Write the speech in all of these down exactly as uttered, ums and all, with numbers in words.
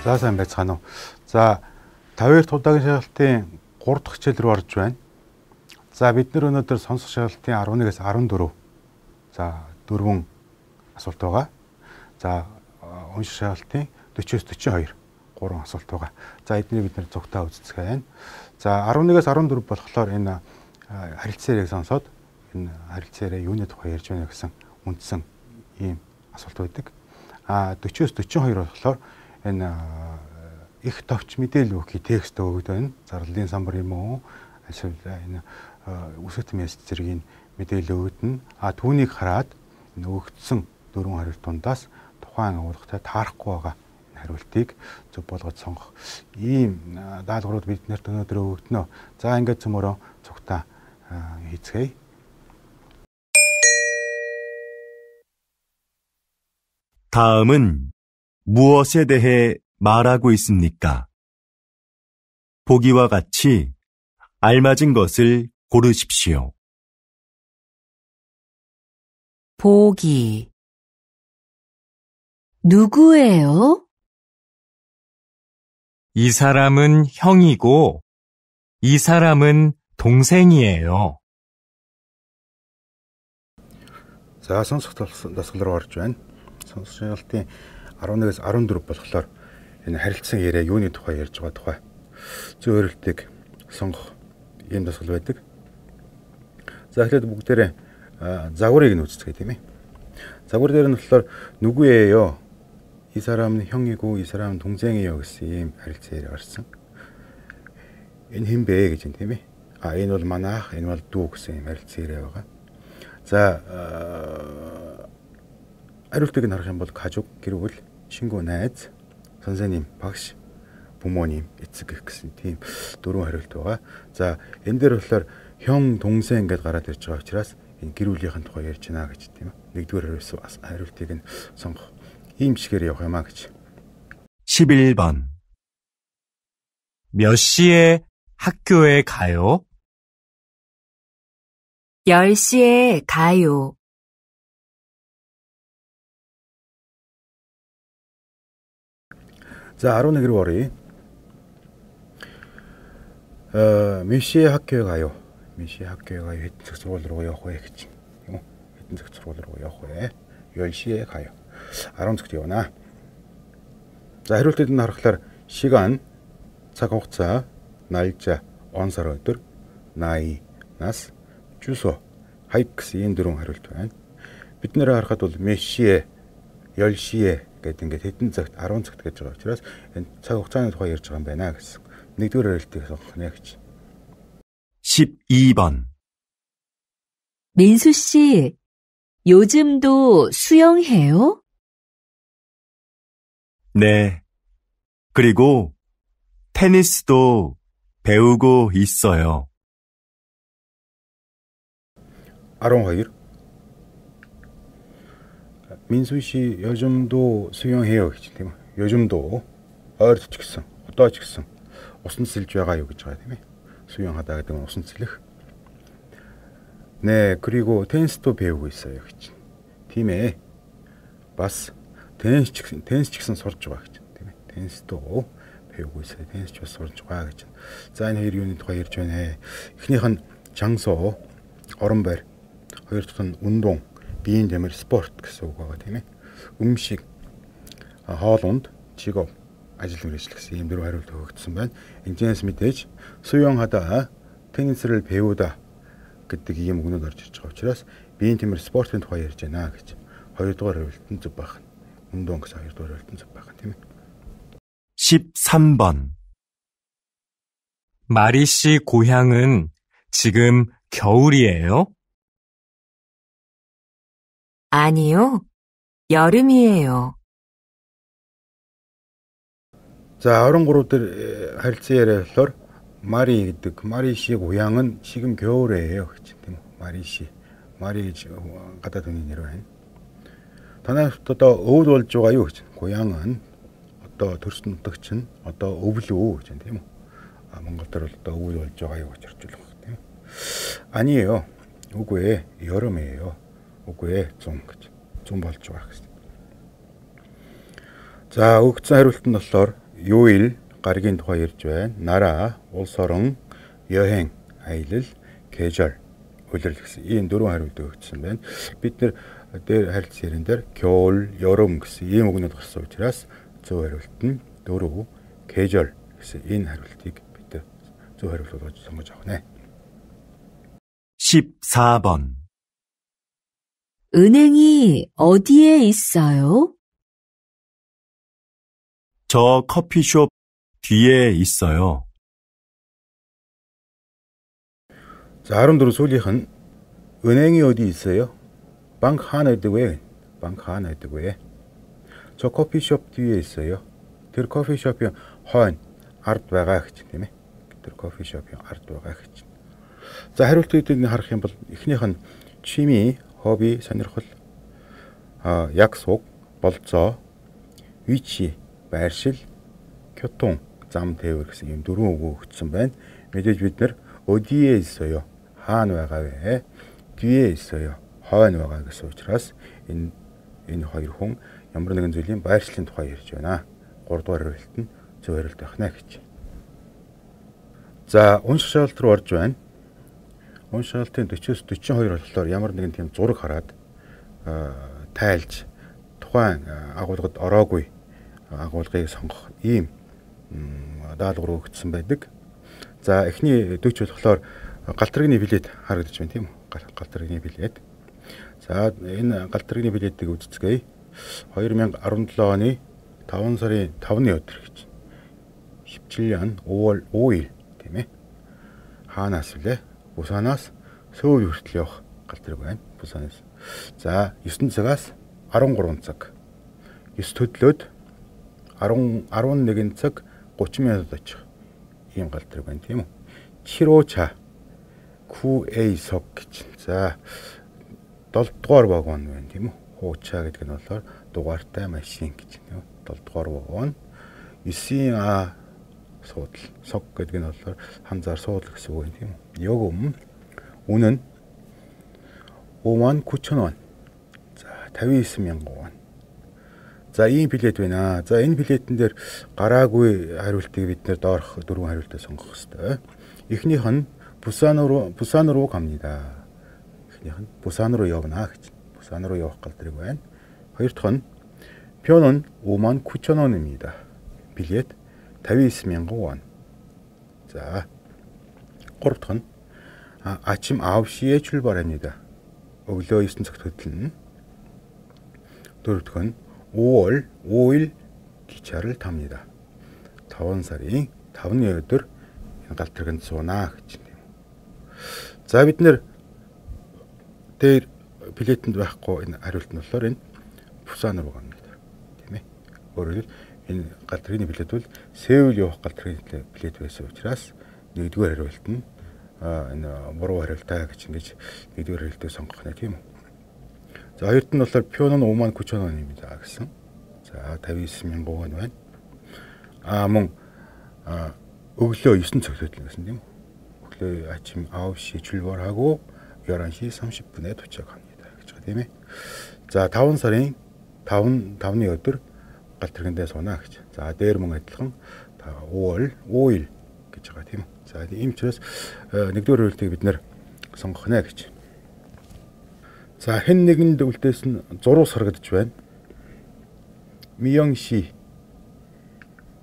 За сайн байцгаана уу. За тавьяарт удаагийн шалгалтын гурав дахь хичээл рүү орж байна. За бид нэр өнөөдөр сонсох шалгалтын арван нэгээс арван дөрөв. За дөрвөн асуулт байгаа. За унших шалгалтын дөрвөөс дөрвөн хоёр гурван асуулт байгаа. За эднийг бид нэр зөвхөн үздэг байна. За арван нэгээс арван дөрөв болохоор энэ харилцаа яриаг сонсоод энэ харилцаа яриа юуны тухай ярьж байна гэсэн үндсэн ийм асуулт байдаг. А дөрвөөс дөрвөн хоёр болохоор энэ их товч мэдээлэл өгөх текст өгöd байна. Зарлалын самбар юм уу? Эсвэл энэ үсэт мессеж зэргийн мэдээлэл өгдөн. А түүнийг хараад энэ өгөгдсөн дөрвөн хариулт дундаас тухайн агуулгатай таарахгүй байгаа энэ хариултыг зөв болгож сонгох ийм даалгаврууд биднэрт өнөөдөр өгөгдөнө. За ингээд цөмөрөө цугтаа хийцгээе. 다음은 무엇에 대해 말하고 있습니까? 보기와 같이 알맞은 것을 고르십시오. 보기. 누구예요? 이 사람은 형이고 이 사람은 동생이에요. За сонсох дасгал руу орж байна. Сонсох шалгалтын арван нэгээс арван дөрөв болохоор энэ харилцан яриа юуны тухай ярьж байгаа тухай зөв өөрөлтийг сонгох ийм дасгал байдаг. За эхлээд бүгдээрээ загварыг нь үздэг тийм ээ. Загвар дээр нь болохоор 누구예요? 이 사람은 형이고 이 사람은 동생이에요 гэсэн ийм харилцан яриа гарсан. Энэ хэн бэ гэж юм тийм ээ. А энэ бол манайх, энэ бол дүү гэсэн ийм харилцан яриа байгаа. За хариултыг нь харах юм бол 가족, гэр бүл, 친구, найз, 선생님, багш, 부모님, эцэг гэх гэсэн тийм дөрвөн хариулт байгаа. За энэ дээр болохоор 형, 동생 гэдээ гараад ирж байгаа учраас энэ гэр бүлийнхэн тухай ярьж байна гэж тийм ээ. Нэгдүгээр хариултыг нь сонгох ийм чигээр явах юмаа гэж. 십일 번. 몇 시에 학교에 가요? 열 시에 가요. 자, арван нэг рүү оръё. 어, 몇 시에 학교에 가요? 몇 시에 학교에 가요? хэдэн цаг сургууль руу явах вэ гэж. Тийм үү? хэдэн цаг сургууль руу явах вэ? 열 시에 가요. арван цагт явна. За, хариултыг нь харахаар 시간, цаг хугацаа, 날짜, он сар өдөр, 나이, нас, 주소, хайп гэсэн энэ дөрвөн хариулт байна. Бид нэр харахад бол 몇 시에, 열 시에 гэдэг ингээд хэдэн цагт арван цагт гэж байгаа учраас энэ цаг хугацааны тухай ярьж байгаа юм байна гэсэн. Нэгдүгээр хариултыг сонгох нэ гэж. 십이 번. 민수 씨, 요즘도 수영해요? 네. 그리고 테니스도 배우고 있어요. арван хоёр. 민수 씨 요즘도 수영해요 гэж тийм үү. 요즘도 ойрт ч гэсэн, одоо ч гэсэн усан сэлж байгаа юу гэж байгаа тийм ээ. 수영하다 гэдэг нь усан сэлэх. 네, 그리고 테니스도 배우고 있어요 гэж. Тийм ээ. бас теннис ч гэсэн теннис ч гэсэн сурж байгаа гэж тийм ээ. 테니스도 배우고 있어요. теннис ч бас сурж байгаа гэж. За энэ хоёр юуны тухай ярьж байна. Эхнийх нь 장소, орон байр. Хоёр дахь нь 운동, биеийн дэмэр, спорт гэсэн үг байгаа тийм ээ. 음식, хоол унд, 직업, ажил мэргэжил гэсэн ийм дөрвөн хариулт өгөгдсөн байна. Эндээс мэдээж 수영하다, 테니스를 배우다 гэдэг ийм үгнүүд орж ирж байгаа учраас биеийн дэмэр, спортын тухай ярьж байна гэж. хоёрдугаар хариулт нь зөв байх. 운동 гэсэн хоёрдугаар хариулт нь зөв байх тийм ээ. 십삼 번. 마리 씨 고향은 지금 겨울이에요? 아니요, 여름이에요. 자, арван гурав дээр харилцан яриа болохоор 마리 гэдэг 마리 씨의 고향은 지금 겨울이에요 гэж тийм үү. 마리 씨. 마리 гэж гадаад хүний нэр байна. Танайд одоо өвд болж байгаа юу гэж. 고향은 одоо төрсөн нутагч нь одоо өвлөө гэж тийм үү. А Монгол дээр бол одоо өвд болж байгаа юу гэж орчуулах тийм үү. 아니에요. үгүй ээ, 여름이에요. үгүй ээ, зун гэж. зун болж байгаа гэсэн. За, өгсөн хариулт нь болохоор 요일 가리긴 тухай ярьж байна. 나라, улс орон, 여행, аялал, 계절, улирал гэсэн ийм дөрвөн хариулт өгсөн байна. Бид нэр дээр харилцан ярин дээр 겨울, 여름 гэсэн ийм үгнүүд гарсан учраас зөв хариулт нь дөрөв 계절 гэсэн энэ хариултыг бид зөв хариулт болгож сонгож авах нэ. 십사 번. 은행이 어디에 있어요? 저 커피숍 뒤에 있어요. 자, 아름드로 소리한 은행이 어디 있어요? bank 하나 있다고요. bank 하나 있다고요. 저 커피숍 뒤에 있어요. тэр 커피숍이 хон ард байгаа гэж тийм ээ. Тэр 커피숍이 ард байгаа гэж. За, хариултуудыг харах юм бол эхнийх нь 취미, хобби, сонирхол, а 약속, болцоо, 위치, байршил, 교통, зам тээвэр гэсэн ийм дөрвөн үг өгсөн байна. Мэдээж бид нэр 어디에 있어요? хаана байгаа вэ? 뒤에 있어요. хойно байгаа гэсэн учраас энэ энэ хоёр хүн ямар нэгэн зүйлийн байршлын тухай ярьж байна. гуравдугаар хариулт нь зөв хариулт байх нэ гэж. За, унших шалгалт руу орж байна. Унших шалгалтын дөрвөөс дөрвөн хоёр болохоор ямар нэгэн тийм зураг хараад тайлж тухайн агуулгад ороогүй агуулгыг сонгох ийм даалгавар өгсөн байдаг. За, эхний дөрвч болохоор галтрагны билет харагдаж байна тийм үү? галтрагны билет. За, энэ галтрагны билетийг үзцгээе. две тысячи десятый оны таван сарын тавны өдөр гэж. 십칠 년 오월 오일 тийм ээ. Хаанаас вэ? Буsanаас Сөүл хүртэл явах галтраг байна. Буsanаас. За, девять цагаас13 цаг. девять төдлөөд ten eleven цаг thirty минут очих ийм галтраг байна тийм үү? 칠 호차 구 A석 гэж. За, seven дугаар вагон байна тийм үү? Хуучаа гэдэг нь болохоор дугаартай машин гэж тийм үү? seven дугаар вагон. nine А суудал. Сог гэдэг нь болохоор ханзаар суудал гэсэн үг юм тийм үү? 요금 үнэн 오만 구천 원. За, fifty-nine мянган вон. За, ийм билет байна. За, энэ билетэн дээр гараагүй хариултыг бид нэр доорх дөрвөн хариултаа сонгох хэрэгтэй. Эхнийх нь Бусан руу Бусан руу 갑니다. эхнийх нь Бусан руу явна гэж. Бусан руу явах галтрэг байна. Хоёр дахь нь 표는 오만 구천 원입니다. билет fifty-nine мянган вон. За, гурав дахь нь 아, 아침 아홉 시에 출발합니다. өглөө nine цагт хөдлөн. дөрөв дахь нь 오월 오일 기차를 탑니다. таван сарын тавны өдөр энэ галтраганд суунаа гэж юм. За, бид нэр дээр билетэнд байхгүй энэ хариулт нь болохоор энэ Бусан руу гэнэ. Тийм ээ. Өөрөөр хэлбэл энэ галтрагны билет бол Сеул явах галтрагны билет байсан учраас нэгдүгээр хариулт нь а энэ буруу хариултаа гэж ингэж нэгдүгээр хариултыг сонгох нэ тийм үү. За, хоёрт нь болохоор 표는 오만 구천 원입니다 гэсэн. За, fifty-nine мянган вон байна. А мөн а өглөө nine цагт хөдлөн гэсэн тийм үү. өглөө 아침 아홉 시 출발하고 열한 시 삼십 분에 도착합니다 гэж байгаа тийм ээ. За, таван сарын таван тавны өдөр галтрагндээ суунаа гэж. За, дээр мөн адилхан 오월 오일 гэж байгаа тийм үү. За, ийм учраас нэгдүгээр хариултыг бид нэр сонгох нэ гэж. За, хэн нэгэнд үлдээс нь зурус харагдаж байна. 미영 씨,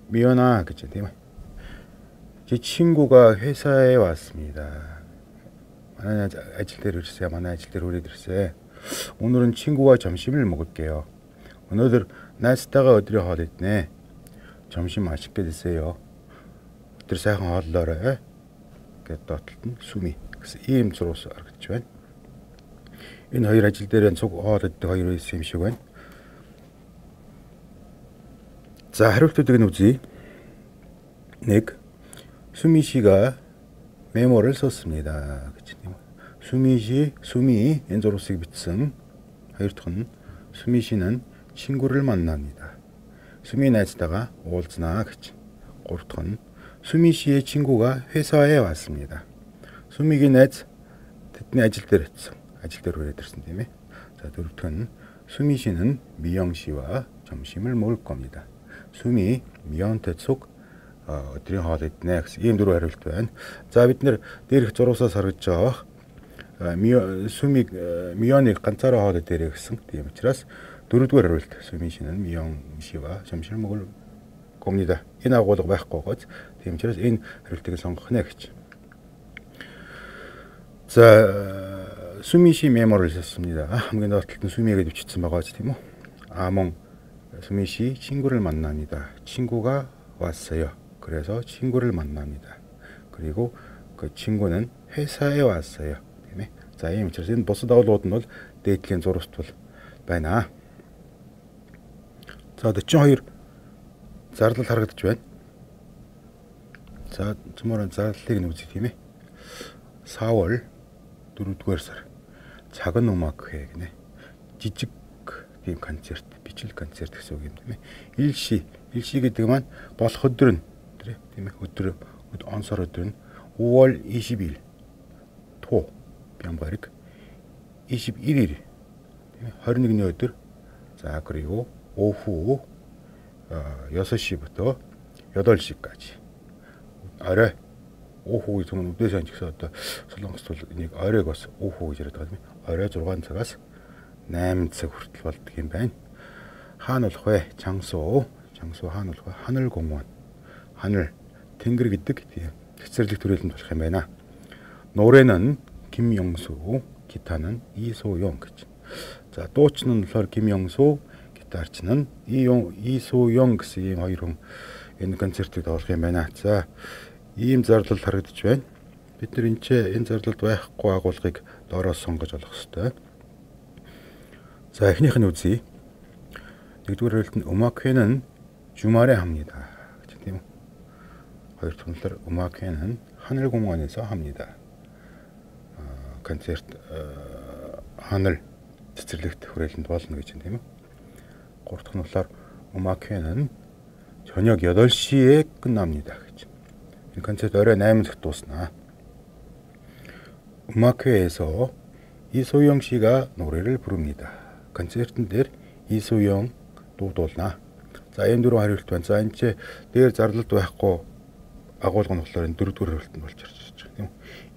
미연아 гэж тийм ээ. 제 친구가 회사에 왔습니다. 만약 아질 때 그랬어요. 만약 아질 때 우리 들었어요. 오늘은 친구와 점심을 먹을게요. 오늘 나스타가 어디로 가랬네. 점심 맛있게 드세요. 어디 сайхан хооллоорой гэдэг доотлолт нь сүми гэсэн ийм зурус харагдаж байна. Энэ хоёр ажил дээр цуг хоолойд хоёр байсан юм шиг байна. За, хариултуудыг нь үзье. нэг. 수미 씨가 메모를 썼습니다. гэж тийм. 수미 씨, 수미 энэ зурусыг бичсэн. хоёр дахь нь 수미 씨는 친구를 만납니다. 수미 найзтайгаа уулзнаа гэж. гурав дахь нь 수미 씨의 친구가 회사에 왔습니다. 수미гийн найз тэдний ажил дээр очсон. ажил дээр хүрээд ирсэн тийм ээ. За, дөрөв дахь нь 수미 씨는 미영 씨와 점심을 먹을 겁니다. сүми мионтой цуг өдрийн хоол иднэ гэсэн ийм дөрвөн хариулт байна. За бид нэр дээрх зургасаас харагдж байгаа сүми мионыг ганцаараа хоол идэрэй гэсэн. Тийм учраас дөрөвдүгээр хариулт сүми шинэ нь мион шива шамширмгөл комнида энэ агуулга байхгүй гоц. Тийм учраас энэ хариултыг сонгох нэ гэж. За сүмиши мемор을 썼습니다. хамгийн доотлолт нь сү미에게 бичсэн байгаа ч тийм үү. 아몽 수미씨 친구를 만납니다. 친구가 왔어요. 그래서 친구를 만납니다. 그리고 그 친구는 회사에 왔어요. 자, ийм учраас энэ бусад агуулгууд нь бол дээдлийн зурвастбал байна. За дөрвөн хоёр зардал харагдаж байна. За цөмөр зарлалыг нь үзье тийм ээ. 사월 дөрөвдүгээр сар 작은 음악회 гинэ. жижиг тийм концерт, бичил концерт гэсэн үг юм тийм ээ. 일시, 일시 гэдэг маань болох өдөр нь тийм ээ. өдөр он сар өдөр нь 오월 이십일 토 뺨바릭 이십일 일 тийм ээ. 이십일 ний өдөр. 자, 그리고 오후 여섯 시부터 여덟 시까지. орой 오후 гэсэн үдээс анчигсаа одоо солонгост бол энийг оройг бас 오후 гэж яриад байгаа юм. орой зургаан цагаас восемь цаг хүртэл болдог юм байна. хаана болох вэ? 장소. 장소 хаана болох вэ? 하늘공원. 하늘 тэнгэр гэдэг тийм цэцэрлэг төрөлд болох юм байна. 노래는 김영수, 기타는 이소영 гэж. 자, дуучин нь болохоор 김영수, гитарч нь 이소영 гэсэн ийм хоёр хүн энэ концертыг тоглох юм байна. За, ийм зарлал харагдаж байна. Бид нар энэ энэ зарлалд байхгүй агуулгыг доороос сонгож олох ёстой. 자, эхнийх нь үзье. нэгдүгээр хариулт нь 음악회는 주말에 합니다. гэж тийм үү? хоёр дахь нь 음악회는 하늘공원에서 합니다. концерт 하늘 цэцэрлэгт хүрээлэнд болно гэж тийм үү? гурав дахь нь болохоор 음악회는 저녁 여덟 시에 끝납니다 гэж. 이 концерт орой восемь цагт дуусна. 음악회에서 이소영 씨가 노래를 부릅니다. концертын дээр 이소영 дуудуулна. За, энэ дөрвөн хариулт байна. За, энэ ч дээр зарлалт байхгүй агуулга нь болохоор энэ дөрөвдүгээр хариулт нь болж ирж байгаа тийм үү?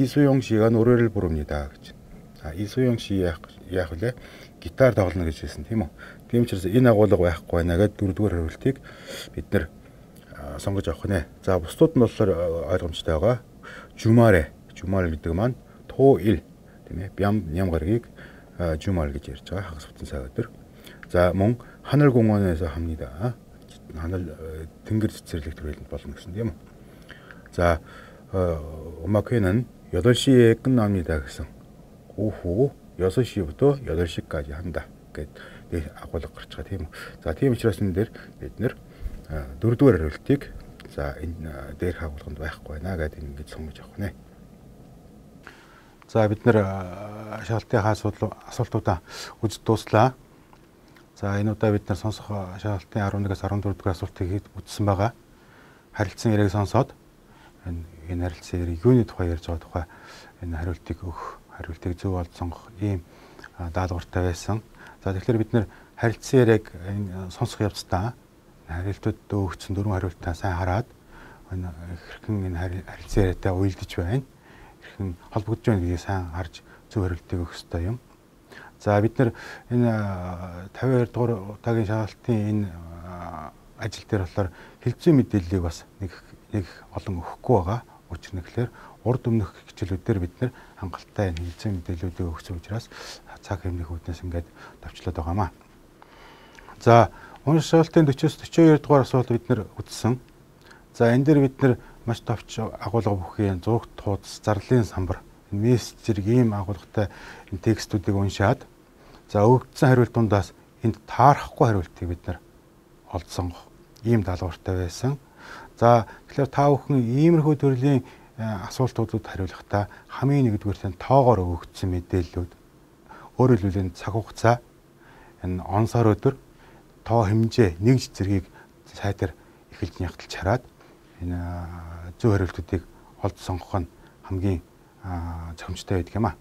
이소영 씨가 노래를 부릅니다 гэж. За, 이소영 씨 яах яах вэ? гитар тоглоно гэж хэлсэн тийм үү? Тийм учраас энэ агуулга байхгүй байна гэдэг дөрөвдүгээр хариултыг бид нэр сонгож авах нэ. За, бусдууд нь болохоор ойлгомжтой байгаа. 주말에, 주말 гэдэг маань 토일 тийм ээ. 뺨 ням гаргийг 주말 гэж ярьж байгаа. хагас бүтэн цаг өдөр. За, мөн 하늘공원에서 합니다. 하늘 тэнгэр цэцэрлэг төрөлд болно гэсэн тийм үү? 자, 음악회는 여덟 시에 끝납니다 гэсэн. 오후 여섯 시부터 여덟 시까지 한다. гэдэг агуулга гарч байгаа тийм үү? За, тийм учраас энэ дээр бид нэр дөрөвдүгээр хариултыг за энэ дээрх агуулганд байхгүй байна гэдэг ингэж сонгож авах нэ. За, бид нэр шаалтын асуултуудаа үзэж дууслаа. За, энэ удаа бид нар сонсох шаалтын eleven-аас fourteen дугаар асуултыг үзсэн байгаа. Харилцан яриаг сонсоод энэ энэ харилцан яриг юуны тухай ярьж байгаа тухай энэ хариултыг өгөх, хариултыг зөв олж сонгох ийм даалгавартай байсан. За, тэгэхээр бид нэр харилцан яриаг сонсох явцдаа хариултууд өгсөн дөрвөн хариултаа сайн хараад энэ хэрхэн энэ харилцан яриатай уялдаж байна, хэрхэн холбогдож байна гэдгийг сайн харж зөв хариултыг өгөх ёстой юм. За, бид нар энэ fifty-two дугаар удаагийн шаалтын энэ ажил дээр болохоор хэлцүү мэдээллийг бас нэг нэг олон өгөхгүй байгаа. Учир нь гэхээр урд өмнөх хичээлүүдээр бид нар хангалттай энэ хэлцүү мэдээллүүдийг өгсөн учраас цаг хэмнэх үүднээс ингээд товчлоод байгаамаа. За, унш шаалтын forty-four дугаар асуулт бид нар үзсэн. За, энэ дээр бид нар маш товч агуулга бүхийн зураг туудас, зарлалын самбар, мессеж ийм агуулгатай энэ текстүүдийг уншаад за, өгөгдсөн хариултуудаас энд таарахгүй хариултыг бид нар олж сонгох ийм даалгавартай байсан. За, тэгэхээр та бүхэн иймэрхүү төрлийн асуултуудад хариулахдаа хамгийн нэгдүгээр нь тоогоор өгөгдсөн мэдээллүүд, өөрөөр хэлбэл цаг хугацаа, энэ он сар өдөр, тоо хэмжээ, нэг зэргийг сайтар эхэлж нягтлж хараад энэ зөв хариултуудыг олж сонгох нь хамгийн зохимжтой байдаг юм а.